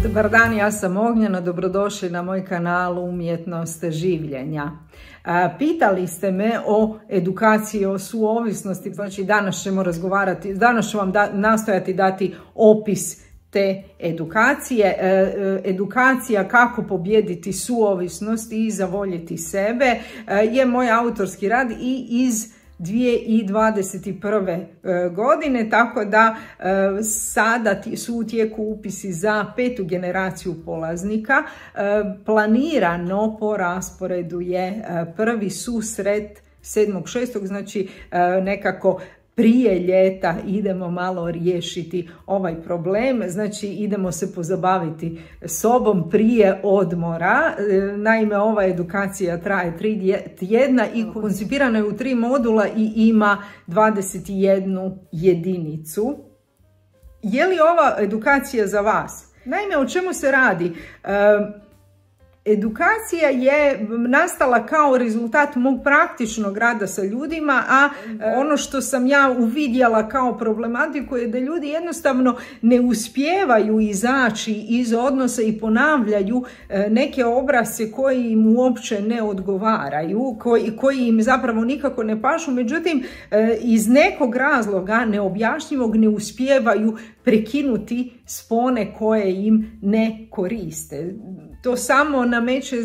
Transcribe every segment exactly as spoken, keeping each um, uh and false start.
Dobar dan, ja sam Ognjena, dobrodošli na moj kanal Umjetnost življenja. Pitali ste me o edukaciji o suovisnosti, znači danas ćemo razgovarati, danas ću vam da, nastojati dati opis te edukacije. Edukacija kako pobijediti suovisnost i zavoljeti sebe je moj autorski rad i iz dvije tisuće dvadeset prve. godine, tako da sada su u tijeku upisi za petu generaciju polaznika. Planirano po rasporedu je prvi susret sedmog šestog, znači nekako prije ljeta idemo malo riješiti ovaj problem, znači idemo se pozabaviti sobom prije odmora. Naime, ova edukacija traje tri tjedna i koncipirana je u tri modula i ima dvadeset jednu jedinicu. Je li ova edukacija za vas? Naime, o čemu se radi? Edukacija je nastala kao rezultat mog praktičnog rada sa ljudima, a ono što sam ja uvidjela kao problematiku je da ljudi jednostavno ne uspijevaju izaći iz odnosa i ponavljaju neke obrasce koji im uopće ne odgovaraju, koji, koji im zapravo nikako ne pašu, međutim iz nekog razloga neobjašnjivog ne uspijevaju prekinuti spone koje im ne koriste. To samo nameće e,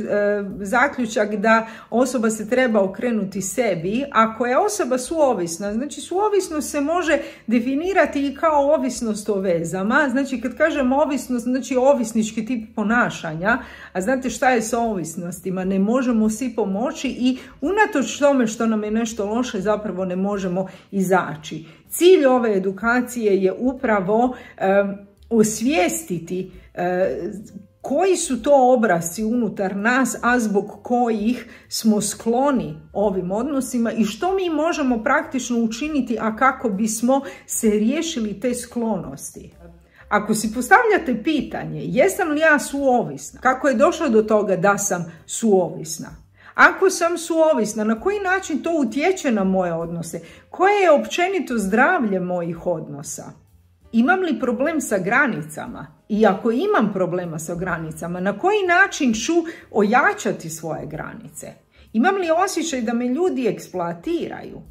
zaključak da osoba se treba okrenuti sebi. Ako je osoba suovisna, znači suovisnost se može definirati i kao ovisnost o vezama. Znači kad kažem ovisnost, znači ovisnički tip ponašanja. A znate šta je sa ovisnostima? Ne možemo si pomoći i unatoč tome što nam je nešto loše zapravo ne možemo izaći. Cilj ove edukacije je upravo e, osvijestiti e, koji su to obrasci unutar nas, a zbog kojih smo skloni ovim odnosima i što mi možemo praktično učiniti, a kako bismo se riješili te sklonosti. Ako si postavljate pitanje, jesam li ja suovisna? Kako je došlo do toga da sam suovisna? Ako sam suovisna, na koji način to utječe na moje odnose? Koje je općenito zdravlje mojih odnosa? Imam li problem sa granicama? I ako imam problema sa granicama, na koji način ću ojačati svoje granice? Imam li osjećaj da me ljudi eksploatiraju?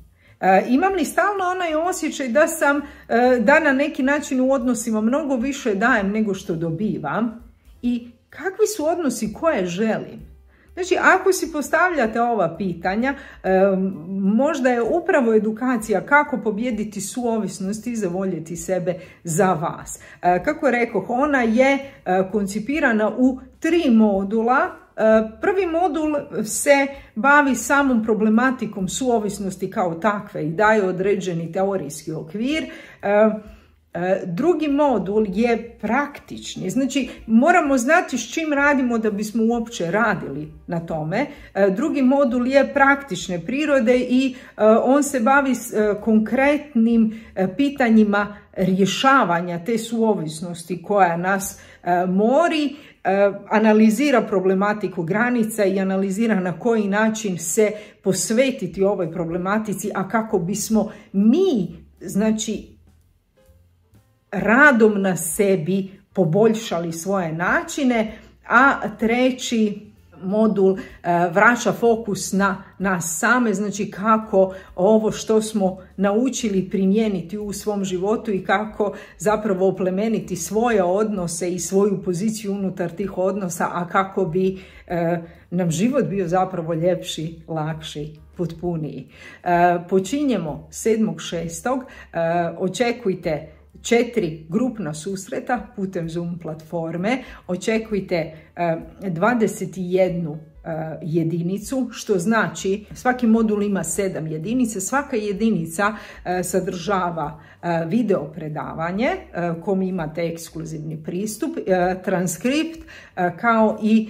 E, imam li stalno onaj osjećaj da sam, e, da na neki način u odnosima mnogo više dajem nego što dobivam? I kakvi su odnosi koje želim? Znači, ako si postavljate ova pitanja, e, možda je upravo edukacija kako pobijediti suovisnost i zavoljeti sebe za vas. E, kako rekoh, ona je e, koncipirana u tri modula. E, prvi modul se bavi samom problematikom suovisnosti kao takve i daje određeni teorijski okvir. E, Drugi modul je praktični, znači moramo znati s čim radimo da bismo uopće radili na tome. Drugi modul je praktične prirode i on se bavi s konkretnim pitanjima rješavanja te suovisnosti koja nas mori, analizira problematiku granica i analizira na koji način se posvetiti ovoj problematici, a kako bismo mi, znači, radom na sebi poboljšali svoje načine, a treći modul e, vraća fokus na nas same, znači kako ovo što smo naučili primijeniti u svom životu i kako zapravo oplemeniti svoje odnose i svoju poziciju unutar tih odnosa, a kako bi e, nam život bio zapravo ljepši, lakši, potpuniji. E, počinjemo sedmog šestog E, očekujte četiri grupna susreta putem Zoom platforme, očekujte dvadeset jednu jedinicu, što znači svaki modul ima sedam jedinica, svaka jedinica sadržava video predavanje kom imate ekskluzivni pristup, transkript kao i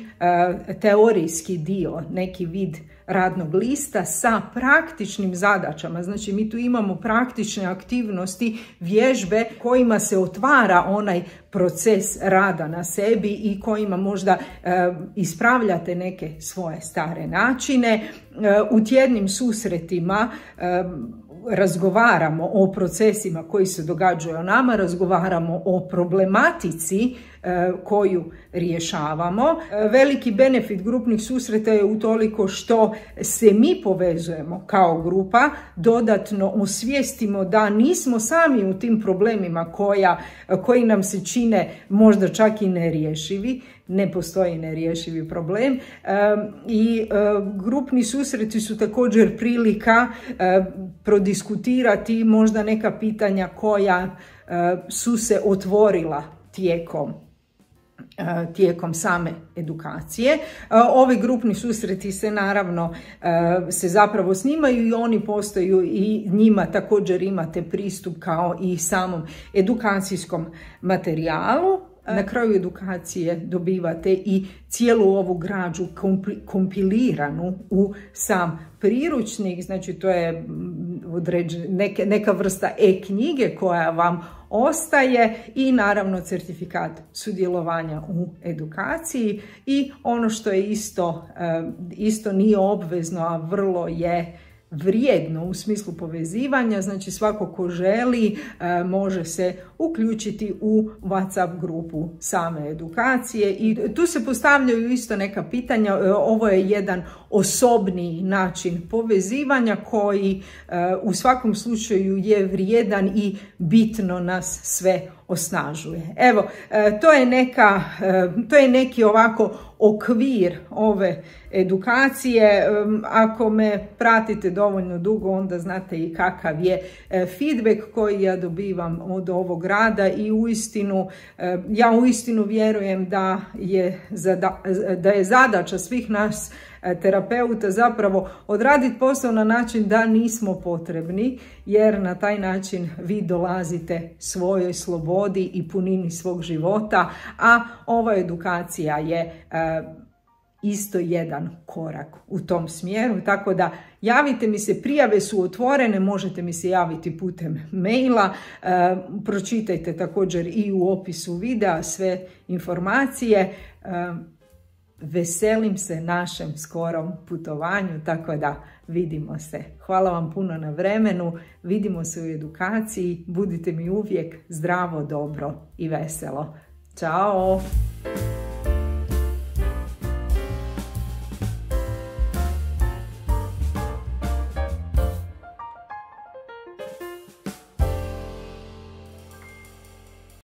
teorijski dio, neki vid radnog lista sa praktičnim zadaćama. Znači mi tu imamo praktične aktivnosti, vježbe kojima se otvara onaj proces rada na sebi i kojima možda e, ispravljate neke svoje stare načine. E, u tjednim susretima e, razgovaramo o procesima koji se događaju o nama, razgovaramo o problematici koju rješavamo. Veliki benefit grupnih susreta je utoliko što se mi povezujemo kao grupa, dodatno osvijestimo da nismo sami u tim problemima koja, koji nam se čine možda čak i nerješivi. Ne postoji nerješivi problem i grupni susreti su također prilika prodiskutirati možda neka pitanja koja su se otvorila tijekom tijekom same edukacije. Ovi grupni susreti se naravno se zapravo snimaju i oni postaju i njima također imate pristup kao i samom edukacijskom materijalu. Na kraju edukacije dobivate i cijelu ovu građu kompiliranu u sam priručnik, znači to je neke, neka vrsta e-knjige koja vam ostaje i naravno certifikat sudjelovanja u edukaciji i ono što je isto, isto nije obvezno, a vrlo je vrijedno u smislu povezivanja, znači svako ko želi e, može se uključiti u WhatsApp grupu same edukacije i tu se postavljaju isto neka pitanja. E, ovo je jedan osobni način povezivanja koji e, u svakom slučaju je vrijedan i bitno nas sve osnažuje. Evo, e, to je neka, e, to je neki ovako okvir ove edukacije. Ako me pratite dovoljno dugo, onda znate i kakav je feedback koji ja dobivam od ovog rada i uistinu, ja uistinu vjerujem da je, da je zadaća svih nas terapeuta zapravo odraditi posao na način da nismo potrebni, jer na taj način vi dolazite svojoj slobodi i punini svog života, a ova edukacija je isto jedan korak u tom smjeru, tako da javite mi se, prijave su otvorene, možete mi se javiti putem maila, e, pročitajte također i u opisu videa sve informacije. E, veselim se našem skorom putovanju, tako da vidimo se. Hvala vam puno na vremenu, vidimo se u edukaciji, budite mi uvijek zdravo, dobro i veselo. Ćao!